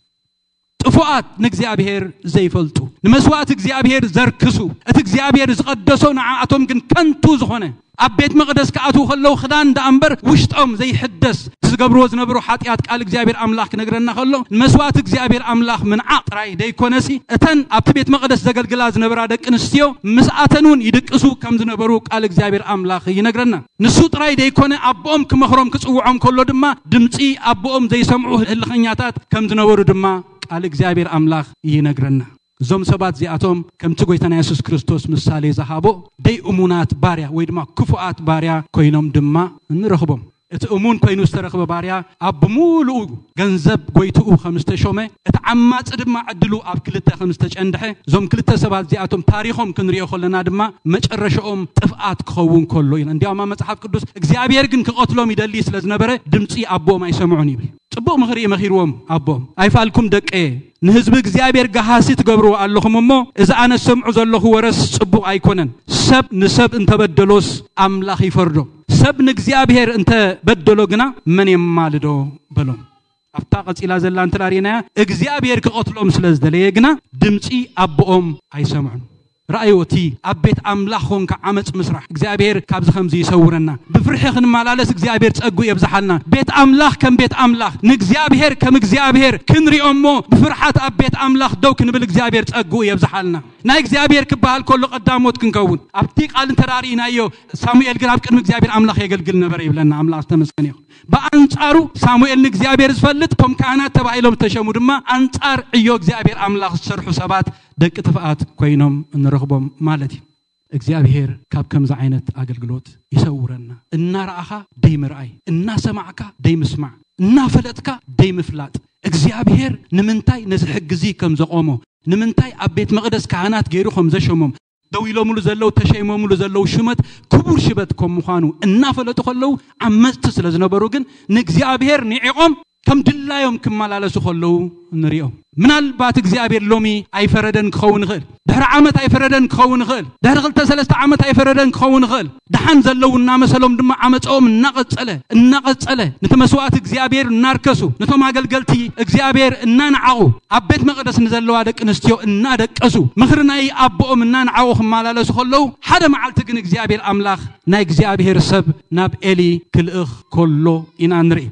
ጥፉኣት ንእግዚኣብሔር ዘይፈልጡ፣ ንመስዋእቲ እግዚኣብሔር ዘርክሱ፣ እቲ እግዚኣብሔር ዝቐደሶ ንዓኣቶም ግን ከንቱ ዝኾነ፣ ኣብ ቤት መቕደስ ክኣትዉ ከለዉ ክዳን ደኣ እምበር ውሽጦም ዘይሕደስ፣ ዝገብርዎ ዝነበሩ ሓጢኣት ቃል እግዚኣብሔር ኣምላኽ ክነግረና ከሎ፣ ንመስዋእቲ እግዚኣብሔር ኣምላኽ ምንዓቕ ጥራይ ደይኮነሲ፣ እተን ኣብቲ ቤት መቕደስ ዘገልግላ ዝነበራ ደቂ ኣንስትዮ ምስኣተን እውን ይድቅሱ ከም ዝነበሩ ቃል እግዚኣብሔር ኣምላኽ ይነግረና። ንሱ ጥራይ ደይኮነ፣ ኣቦኦም ክመኽሮም ክጽውዖም ከሎ ድማ ድምጺ ኣቦኦም ዘይሰምዑ ህልኸኛታት ከም ዝነበሩ ድማ ቃል እግዚኣብሔር ኣምላኽ ይነግረና። እዞም ሰባት እዚኣቶም ከምቲ ጎይታና የሱስ ክርስቶስ ምሳሌ ዝሃቦ ደይ እሙናት ባርያ ወይ ድማ ክፉኣት ባርያ ኮይኖም ድማ ንረኽቦም። እቲ እሙን ኮይኑ ዝተረኽበ ባርያ ኣብ ብምሉኡ ገንዘብ ጎይትኡ ከም ዝተሾመ፣ እቲ ዓማጺ ድማ ዕድሉ ኣብ ክልተ ከም ዝተጨንድሐ፣ እዞም ክልተ ሰባት እዚኣቶም ታሪኾም ክንሪኦ ከለና ድማ መጨረሻኦም ጥፍኣት ክኸውን ከሎ ኢና። እንዲያውም ኣብ መጽሓፍ ቅዱስ እግዚኣብሔር ግን ክቐትሎም ይደሊ ስለ ዝነበረ ድምጺ ኣቦኦም ኣይሰምዑን ይብል። ጽቡቕ ምኽሪ እዩ መኺርዎም ኣቦኦም። ኣይፋልኩም ደቀየ፣ ንህዝቢ እግዚኣብሔር ገሃሲ ትገብርዎ ኣለኹም እሞ፣ እዚ ኣነ ዝሰምዑ ዘለኹ ወረስ ጽቡቕ ኣይኮነን። ሰብ ንሰብ እንተበደሎስ ኣምላኽ ይፈርዶ። ሰብ ንእግዚኣብሔር እንተበደሎ ግና መን የማልዶ በሎም። ኣብታ ቀጺላ ዘላ እንተ ርኢናያ፣ እግዚኣብሔር ክቐትሎም ስለ ዝደለየ ግና ድምጺ ኣቦኦም ኣይሰምዑን። ረኣይዎ፣ እቲ ኣብ ቤት ኣምላኽ ኾንካ ዓመፅ ምስራሕ እግዚኣብሔር ካብዚ ከምዚ ይሰውረና። ብፍርሒ ክንመላለስ እግዚኣብሔር ጸግኡ የብዝሓልና። ቤት ኣምላኽ ከም ቤት ኣምላኽ፣ ንእግዚኣብሔር ከም እግዚኣብሔር ክንሪኦ እሞ ብፍርሓት ኣብ ቤት ኣምላኽ ደው ክንብል እግዚኣብሔር ጸግኡ የብዝሓልና። ናይ እግዚኣብሔር ክበሃል ከሎ ቀዳሞት ክንከውን። ኣብቲ ቃል እንተ ርኢናዮ፣ ሳሙኤል ግን ኣብ ቅድሚ እግዚኣብሔር ኣምላኽ የገልግል ነበረ ይብለና። ኣምላኽ ዝተመስገነ ይኹን። ብኣንጻሩ ሳሙኤል ንእግዚኣብሔር ዝፈልጥ፣ እቶም ካህናት ተባሂሎም ዝተሸሙ ድማ ኣንጻር ዕዮ እግዚኣብሔር ኣምላኽ ዝሰርሑ ሰባት ደቂ ጥፍኣት ኮይኖም ንረኽቦም ማለት እዩ። እግዚኣብሔር ካብ ከምዚ ዓይነት ኣገልግሎት ይሰውረና። እናረኣኻ ደይምርኣይ፣ እናሰማዕካ ደይምስማዕ፣ እናፈለጥካ ደይምፍላጥ። እግዚኣብሔር ንምንታይ ነዚ ሕጊ እዚ ከም ዘቖሞ፣ ንምንታይ ኣብ ቤት መቕደስ ካህናት ገይሩ ከም ዘሸሞም፣ ደው ኢሎምሉ ዘለዉ፣ ተሸይሞምሉ ዘለዉ ሽመት ክቡር ሽመት ከም ምዃኑ እናፈለጡ ከለዉ፣ ዓመፅቲ ስለ ዝነበሩ ግን ንእግዚኣብሔር ንዒቖም ከም ድላዮም ክመላለሱ ከለዉ ንሪኦም። ምናልባት እግዚኣብሔር ሎሚ ኣይፈረደን ክኸውን ይኽእል። ድሕሪ ዓመት ኣይፈረደን ክኸውን ይኽእል። ድሕሪ ክልተ ሰለስተ ዓመት ኣይፈረደን ክኸውን ይኽእል። ደሓን ዘለዉ እናመሰሎም ድማ ዓመፀኦም እናቐፀለ፣ እናቐፀለ፣ ነቲ መስዋእቲ እግዚኣብሔር እናርከሱ፣ ነቶም ኣገልገልቲ እግዚኣብሔር እናነዓቑ፣ ኣብ ቤት መቕደስ ንዘለዋ ደቂ ኣንስትዮ እናደቀሱ፣ ምኽሪ ናይ ኣቦኦም እናነዓቑ ክመላለሱ ከለዉ፣ ሓደ መዓልቲ ግን እግዚኣብሔር ኣምላኽ ናይ እግዚኣብሔር ሰብ ናብ ኤሊ ክልእኽ ከሎ ኢና ንርኢ።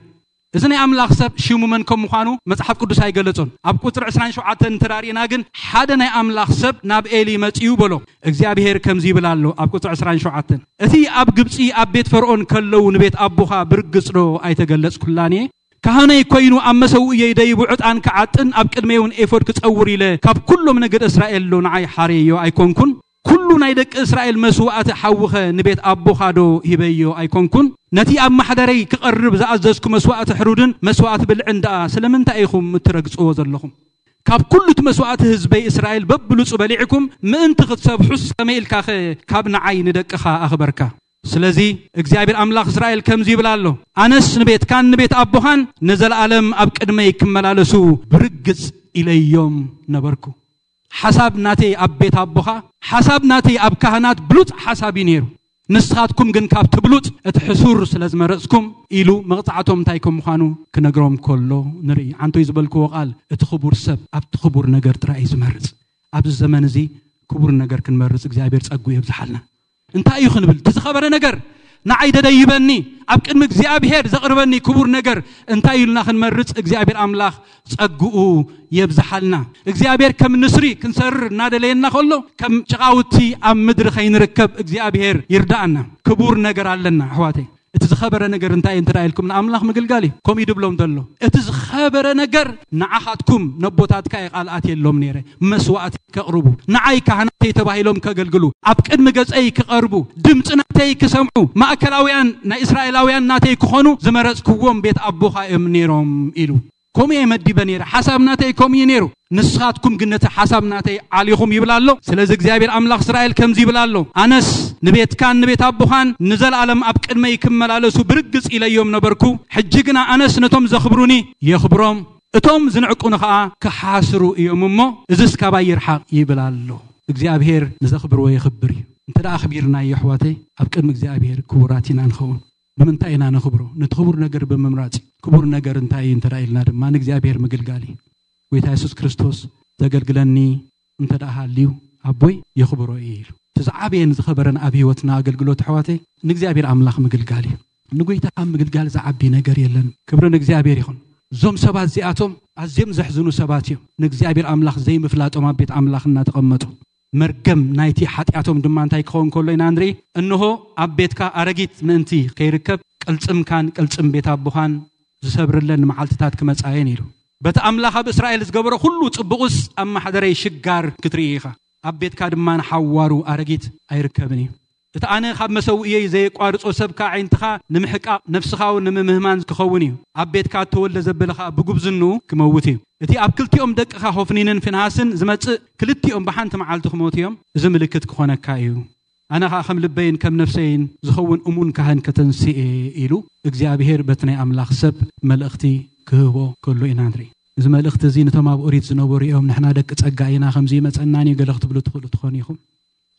እዚ ናይ ኣምላኽ ሰብ ሽሙ መን ከም ምዃኑ መጽሓፍ ቅዱስ ኣይገለጾን። ኣብ ቁጽሪ ዕስራን ሸውዓተን እንተ ርኢና ግን፣ ሓደ ናይ ኣምላኽ ሰብ ናብ ኤሊ መጺኡ በሎ። እግዚኣብሔር ከምዚ ይብል ኣሎ ኣብ ቁጽሪ ዕስራን ሸውዓተን፣ "እቲ ኣብ ግብጺ ኣብ ቤት ፈርዖን ከለዉ ንቤት ኣቦኻ ብርግጽ ዶ ኣይተገለጽኩላን እየ? ካህነይ ኮይኑ ኣብ መሰውእየይ ደይቡ ዕጣን ክዓጥን ኣብ ቅድመይ እውን ኤፎድ ክጸውር ኢለ ካብ ኩሎም ነገድ እስራኤል ዶ ንዓይ ሓርየዮ ኣይኮንኩን? ኩሉ ናይ ደቂ እስራኤል መስዋእቲ ሓዊኸ ንቤት ኣቦኻ ዶ ሂበዮ ኣይኮንኩን? ነቲ ኣብ ማሕደረይ ክቐርብ ዝኣዘዝኩ መስዋእቲ ሕሩድን መስዋእቲ ብልዕን ደኣ ስለምንታይ ኢኹም እትረግጽዎ ዘለኹም? ካብ ኩሉ እቲ መስዋእቲ ህዝበይ እስራኤል በብሉጹ በሊዕኩም ምእንቲ ክትሰብሑስ ከመይ ኢልካኸ ካብ ንዓይ ንደቅኻ ኣኽበርካ? ስለዚ እግዚኣብሔር ኣምላኽ እስራኤል ከምዚ ይብል ኣሎ፣ ኣነስ ንቤትካን ንቤት ኣቦኻን ንዘለኣለም ኣብ ቅድመይ ክመላለሱ ብርግጽ ኢለዮም ነበርኩ። ሓሳብ ናተይ ኣብ ቤት ኣቦኻ፣ ሓሳብ ናተይ ኣብ ካህናት ብሉጽ ሓሳብ እዩ ነይሩ። ንስኻትኩም ግን ካብቲ ብሉጽ እቲ ሕሱር ስለ ዝመረጽኩም" ኢሉ መቕጻዕቶም እንታይ ከም ምዃኑ ክነግሮም ከሎ ንርኢ። ሓንቶይ ዝበልክዎ ቃል፣ እቲ ክቡር ሰብ ኣብቲ ክቡር ነገር ጥራይ እዩ ዝመርጽ። ኣብዚ ዘመን እዚ ክቡር ነገር ክንመርጽ እግዚኣብሔር ጸግኡ የብዝሓልና። እንታይ እዩ ክንብል፣ እቲ ዝኸበረ ነገር ንዓይ ደደይበኒ፣ ኣብ ቅድሚ እግዚኣብሔር ዘቕርበኒ ክቡር ነገር እንታይ ኢልና ክንመርጽ እግዚኣብሔር ኣምላኽ ጸግኡ የብዝሓልና። እግዚኣብሔር ከም ንስሪ ክንሰርር እናደለየና ከሎ፣ ከም ጭቓውቲ ኣብ ምድሪ ከይንርከብ እግዚኣብሔር ይርዳኣና። ክቡር ነገር ኣለና ኣሕዋተይ። እቲ ዝኸበረ ነገር እንታይ እዩ እንተ ኢልኩም፣ ንኣምላኽ ምግልጋል እዩ። ከምኡ እዩ ድብሎም ዘሎ። እቲ ዝኸበረ ነገር ንዓኻትኩም፣ ነቦታትካ እየ ቃል ኣትየሎም ነይረ፣ መስዋእቲ ከቕርቡ፣ ንዓይ ካህናተይ ተባሂሎም ከገልግሉ፣ ኣብ ቅድሚ ገጸይ ክቐርቡ፣ ድምፂ ናተይ ክሰምዑ፣ ማእከላውያን ናይ እስራኤላውያን ናተይ ክኾኑ ዝመረጽክዎም ቤት ኣቦኻ እዮም ነይሮም ኢሉ። ከምኡ እየ መዲበ ነይረ፣ ሓሳብ ናተይ ከምኡ እዩ ነይሩ። ንስኻትኩም ግን ነቲ ሓሳብ ናተይ ዓሊኹም ይብል ኣሎ። ስለዚ እግዚኣብሔር ኣምላኽ እስራኤል ከምዚ ይብል ኣሎ፣ ኣነስ ንቤትካን ንቤት ኣቦኻን ንዘለኣለም ኣብ ቅድመይ ክመላለሱ ብርግጽ ኢለዮም ነበርኩ። ሕጂ ግና ኣነስ ነቶም ዘኽብሩኒ የኽብሮም፣ እቶም ዝንዕቁኒ ኸኣ ክሓስሩ እዮም እሞ፣ እዝስ ካባይ ይርሓቕ ይብል ኣሎ። እግዚኣብሔር ንዘኽብርዎ የኽብር እዩ። እንተ ደኣ ኣኽቢርናዮ ኣሕዋተይ፣ ኣብ ቅድሚ እግዚኣብሔር ክቡራት ኢና ንኸውን። ብምንታይ ኢና ነኽብሮ? ነቲ ክቡር ነገር ብምምራጽ። ክቡር ነገር እንታይ እዩ እንተ ኢልና ድማ ንእግዚኣብሔር ምግልጋል እዩ። ጎይታ የሱስ ክርስቶስ፣ "ዘገልግለኒ እንተ ደኣ ሃልዩ ኣቦይ የኽብሮ እዩ" ኢሉ። እቲ ዝዓበየን ዝኸበረን ኣብ ህይወትና ኣገልግሎት ኣሕዋተይ ንእግዚኣብሔር ኣምላኽ ምግልጋል እዩ። ንጎይታ ካብ ምግልጋል ዝዓቢ ነገር የለን። ክብሪ ንእግዚኣብሔር ይኹን። እዞም ሰባት እዚኣቶም ኣዝዮም ዘሕዝኑ ሰባት እዮም። ንእግዚኣብሔር ኣምላኽ ዘይምፍላጦም ኣብ ቤት ኣምላኽ እናተቐመጡ መርገም ናይቲ ሓጢኣቶም ድማ እንታይ ክኸውን ከሎ ኢና ንርኢ? "እንሆ ኣብ ቤትካ ኣረጊት ምእንቲ ከይርከብ ቅልጽምካን ቅልጽም ቤት ኣቦኻን ዝሰብርለን መዓልትታት ክመጻ እየን" ኢሉ። በቲ ኣምላኽ ኣብ እስራኤል ዝገበሮ ኩሉ ጽቡቕስ ኣብ ማሕደረይ ሽጋር ክትርኢ ኢኻ። ኣብ ቤትካ ድማ ንሓዋሩ ኣረጊት ኣይርከብን እዩ። እቲ ኣነ ካብ መሰውእየይ ዘየቋርጾ ሰብካ ኣዒንትኻ ንምሕቃቕ ነፍስኻ እውን ንምምህማን ክኸውን እዩ። ኣብ ቤትካ እተወልደ ዘበለ ኸኣ ብጉብዝንኡ ክመውት እዩ። እቲ ኣብ ክልቲኦም ደቅኻ ሆፍኒንን ፊንሃስን ዝመጽእ ክልቲኦም ብሓንቲ መዓልቲ ክሞቱ እዮም። እዚ ምልክት ክኾነካ እዩ። ኣነ ኸኣ ከም ልበይን ከም ነፍሰይን ዝኸውን እሙን ካህን ከተንስኤ ኢሉ እግዚኣብሔር በቲ ናይ ኣምላኽ ሰብ መልእኽቲ ክህቦ ከሎ ኢና ንርኢ። እዚ መልእኽቲ እዚ ነቶም ኣብ ኦሪት ዝነበሩ እዮም፣ "ንሕና ደቂ ጸጋ ኢና፣ ከምዚ ይመጸናን እዩ" ገለ ክትብሉ ትኽእሉ ትኾኑ ኢኹም።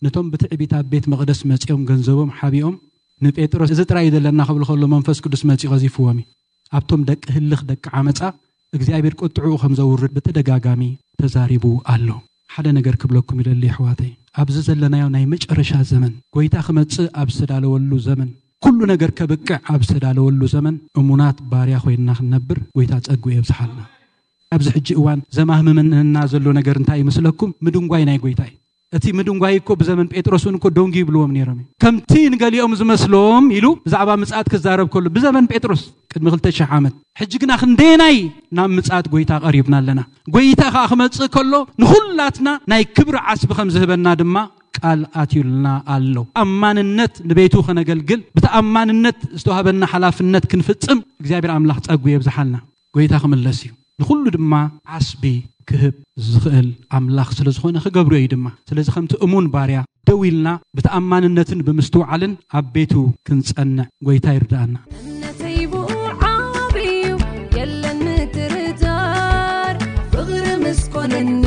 ነቶም ብትዕቢት ኣብ ቤት መቕደስ መጺኦም ገንዘቦም ሓቢኦም ንጴጥሮስ፣ "እዚ ጥራይ እዩ ዘለና" ክብሉ ከሎ መንፈስ ቅዱስ መጺኡ ቀዚፍዎም እዩ። ኣብቶም ደቂ ህልኽ፣ ደቂ ዓመጻ እግዚኣብሔር ቁጥዕኡ ከም ዘውርድ ብተደጋጋሚ ተዛሪቡ ኣሎ። ሓደ ነገር ክብለኩም ይደሊ ኣሕዋተይ፣ ኣብዚ ዘለናዮ ናይ መጨረሻ ዘመን፣ ጎይታ ክመጽእ ኣብ ዝተዳለወሉ ዘመን፣ ኩሉ ነገር ከብቅዕ ኣብ ዝተዳለወሉ ዘመን እሙናት ባርያ ኮይንና ክንነብር ጎይታ ጸግኡ የብዝሓልና። ኣብዚ ሕጂ እዋን ዘማህምመና ዘሎ ነገር እንታይ ይመስለኩም? ምድንጓይ ናይ ጎይታ እዩ። እቲ ምድንጓይ እኮ ብዘመን ጴጥሮስ እውን እኮ ደንጉዩ ይብልዎም ነይሮም እዩ። ከምቲ ንገሊኦም ዝመስሎም ኢሉ ብዛዕባ ምጽኣት ክዛረብ ከሎ ብዘመን ጴጥሮስ ቅድሚ ክልተ ሽሕ ዓመት። ሕጂ ግና ክንደየናይ ናብ ምጽኣት ጎይታ ቀሪብና ኣለና። ጎይታ ከኣ ክመጽእ ከሎ ንኹላትና ናይ ክብሪ ዓስቢ ከም ዝህበና ድማ ቃል ኣትዩልና ኣሎ። ኣማንነት ንቤቱ ከነገልግል ብተኣማንነት ዝተዋህበና ሓላፍነት ክንፍጽም እግዚኣብሔር ኣምላኽ ጸጉ የብዝሓልና። ጎይታ ክምለስ እዩ። ንኹሉ ድማ ዓስቢ ክህብ ዝኽእል ኣምላኽ ስለ ዝኾነ ክገብሮ እዩ ድማ። ስለዚ ከምቲ እሙን ባርያ ደው ኢልና ብተኣማንነትን ብምስትውዓልን ኣብ ቤቱ ክንጸንዕ ጎይታ ይርድኣና። እምነተይ ብኡ ዓብዩ የለን ምጥርጣር፣ ፍቕሪ ምስ ኮነኒ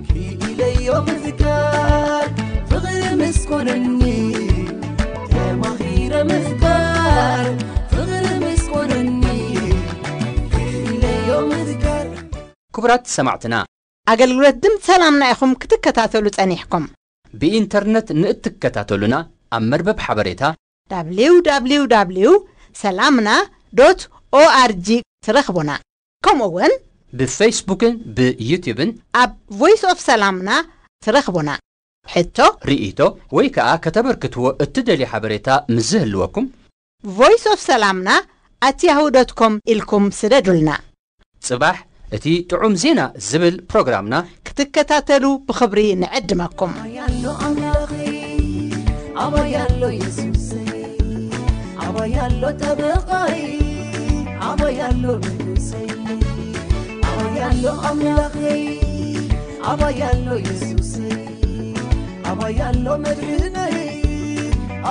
ክኢለዮ ምዝካር፣ ፍቕሪ ምስ ኮነኒ ተማኺረ ምዝካር፣ ፍቕሪ ምስ ኮነኒ ክኢለዮ ምዝካር። ክቡራት ሰማዕትና፣ ኣገልግሎት ድምፂ ሰላምና ኢኹም ክትከታተሉ ጸኒሕኩም። ብኢንተርነት ንእትከታተሉና ኣብ መርበብ ሓበሬታ www ሰላምና ዶት ኦኣርጂ ትረኽቡና። ከምኡ እውን ብፌስቡክን ብዩትዩብን ኣብ ቮይስ ኦፍ ሰላምና ትረኽቡና። ሕቶ፣ ርእይቶ ወይ ከኣ ከተበርክትዎ እትደልዩ ሓበሬታ ምስ ዝህልወኩም ቮይስ ኦፍ ሰላምና ኣት ያሁ ዶት ኮም ኢልኩም ስደዱልና። ጽባሕ እቲ ጥዑም ዜና ዝብል ፕሮግራምና ክትከታተሉ ብኽብሪ ንዕድመኩም። ኣባይ ኣሎ ኣምላኸይ፣ ኣባይ ኣሎ የሱሰይ፣ ኣባይ ኣሎ ጠበቓይ፣ ኣባይ ኣሎ ንጉሰይ። ኣባይ ኣሎ ኣምላኸይ፣ ኣባይ ኣሎ የሱሰይ፣ ኣባይ ኣሎ መድሕነይ፣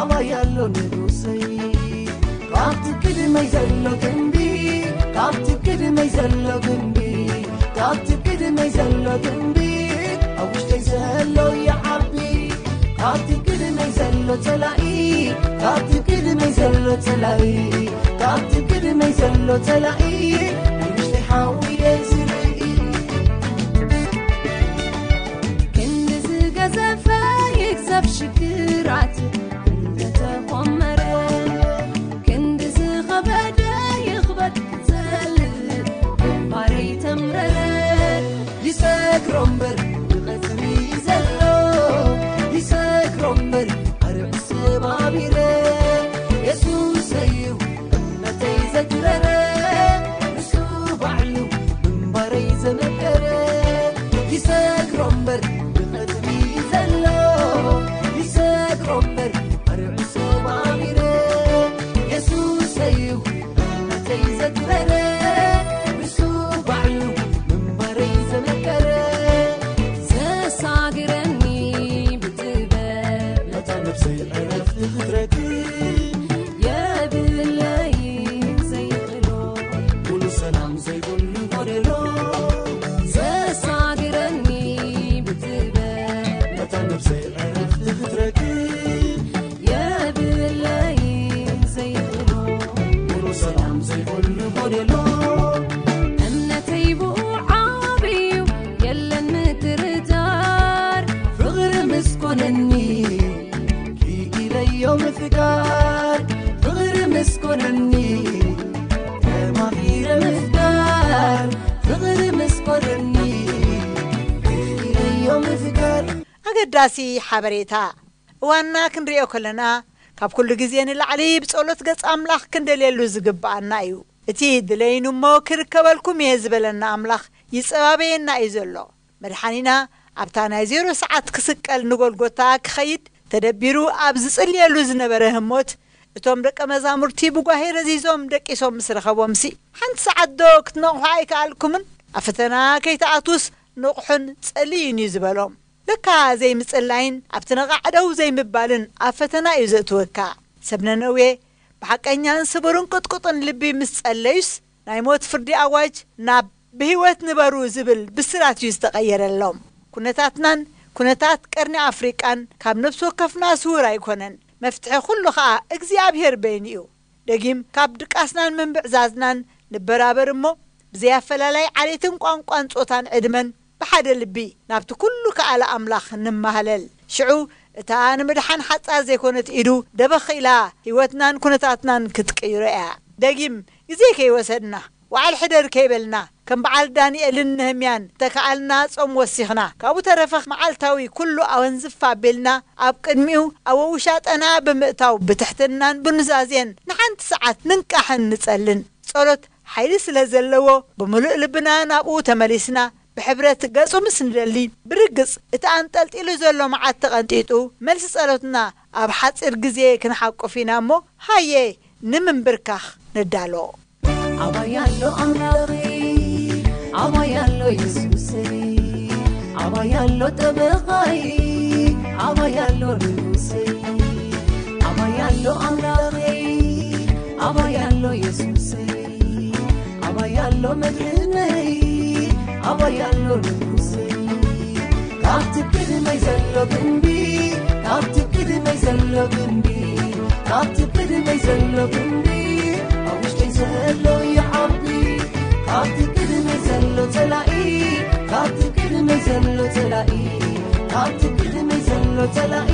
ኣባይ ኣሎ ንጉሰይ። ካብቲ ቅድመይ ዘሎ ግንቢ፣ ካብቲ ቅድመይ ዘሎ ግንቢ፣ ካብቲ ቅድመይ ዘሎ ግንቢ፣ ኣብ ውሽጠይ ዘሎ ይዓቢ። ካብቲ ቅድመይ ዘሎ ጸላኢ፣ ካብቲ ቅድመይ ዘሎ ጸላኢ፣ ካብቲ ቅድመይ ዘሎ ጸላኢ፣ ኣብ ውሽጠይ ሓዊ እየ ዝርኢ። ክንዲ ዝገዘፈ ይግዘፍ ሽግራት እንተተኾመረ፣ ክንዲ ዝኸበደ ይኽበድ ክጸልእ ግንባረይ ተምረረ። ይሰግሮ እምበር ይቐጽሪ ዘሎ፣ ይሰግሮ እምበር ኣርዕ ሰባቢረ። የሱስ ዘትበረ ብሱ ባዕሉ ምንባረይ ዘመከረ ዘሳግረኒ ብጥበብ ነታ ነብሰይ ዕረፍቲ ክትረክብ የብለይ ዘይኽእሎ ሙሉ ሰላም ዘይብሉ ጎደሎ ዘሳግረኒ ብጥበብ ነታ ነብሰይ ዕረፍቲ ክትረክብ የብለይ ዘይኽእሎ ሙሉ ሰላም ዘይብሉ ጎደሎ እምነተይ ብኡ ዓብዩ የለን ምትርታር ፍቕሪ ምስ ኮነኒ ክኢለዮ ምፍቃር ፍቕሪ ምስ ኮነኒ ተማኺረ ምፍቃር ፍቕሪ ምስ ኮነኒ ክኢለዮ ምፍቃር ኣገዳሲ ሓበሬታ እዋንና ክንሪኦ ከለና ካብ ኩሉ ግዜ ንላዕሊ ብጸሎት ገጽ ኣምላኽ ክንደልየሉ ዝግብኣና እዩ። እቲ ድለይኑ እሞ ክርከበልኩም እየ ዝበለና ኣምላኽ ይጸባበየና እዩ ዘሎ። መድሓኒና ኣብታ ናይ ዜሮ ሰዓት ክስቀል ንጎልጎታ ክኸይድ ተደቢሩ ኣብ ዝጽልየሉ ዝነበረ ህሞት እቶም ደቀ መዛሙርቲ ብጓሄ ረዚዞም ደቂሶም ምስ ረኸቦምሲ ሓንቲ ሰዓት ዶ ክትነቕሑ ኣይከኣልኩምን? ኣብ ፈተና ከይትኣትዉስ ንቑሑን ጸልዩን እዩ ዝበሎም። ለካ ዘይምጽላይን ኣብቲ ነቓዕ ደው ዘይምባልን ኣብ ፈተና እዩ ዘእትወካ። ሰብ ነነዌ ብሓቀኛን ስቡርን ቅጥቁጥን ልቢ ምስ ጸለዩስ ናይ ሞት ፍርዲ ኣዋጅ ናብ ብህይወት ንበሩ ዝብል ብስራት እዩ ዝተቐየረሎም። ኩነታትናን ኩነታት ቀርኒ ኣፍሪቃን ካብ ነፍሲ ወከፍና ስውር ኣይኮነን። መፍትሒ ኩሉ ኸኣ እግዚኣብሔር በይኑ እዩ። ደጊም ካብ ድቃስናን ምንብዕዛዝናን ንበራበር እሞ ብዘይ ኣፈላላይ ዓሌትን ቋንቋን ጾታን ዕድመን ብሓደ ልቢ ናብቲ ኩሉ ከኣለ ኣምላኽ ንማህለል። ሽዑ እታ ንምድሓን ሓጻር ዘይኮነት ኢዱ ደበኽ ኢላ ህይወትናን ኩነታትናን ክትቅይሮ እያ። ደጊም ግዜ ከይወሰድና ዋዕል ሕደር ከይበልና ከም በዓል ዳንኤልን ነህምያን ተከኣልና ጾም ወሲኽና ካብኡ ተረፈ መዓልታዊ ኩሉ ኣወንዝፍ ኣቢልና ኣብ ቅድሚኡ ኣብ ውሻጠና ብምእታው ብትሕትናን ብኑዛዜን ንሓንቲ ሰዓት ንንቃሕን ንጸልን። ጸሎት ሓይሊ ስለ ዘለዎ ብምሉእ ልብና ናብኡ ተመሊስና ብሕብረት ገጹ ምስ ንደሊ ብርግጽ እቲ ኣንጠልጢሉ ዘሎ መዓት ተቐንጢጡ መልሲ ጸሎትና ኣብ ሓጺር ግዜ ክንሓቁፍ ኢና እሞ ሃየ ንምንብርካኽ ንዳሎ። ኣባይ ኣሎ ኣምላኸይ ኣባይ ኣሎ የሱሰይ ኣባይ ኣሎ ጠበቓይ ኣባይ ኣሎ ንጉሰይ ኣባይ ኣሎ ኣምላኸይ ኣባይ ኣሎ የሱሰይ ኣባይ ኣሎ መድሕነይ ኣባይ ኣሎ ንጉሰይ ካብቲ ቅድመይ ዘሎ ግንቢ ካብቲ ቅድመይ ዘሎ ግንቢ ካብቲ ቅድመይ ዘሎ ግንቢ ኣብ ውሽጠይ ዘሎ ይዓቢ ካብቲ ቅድመይ ዘሎ ጸላኢ ካብቲ ቅድመይ ዘሎ ጸላኢ ካብቲ ቅድመይ ዘሎ ጸላኢ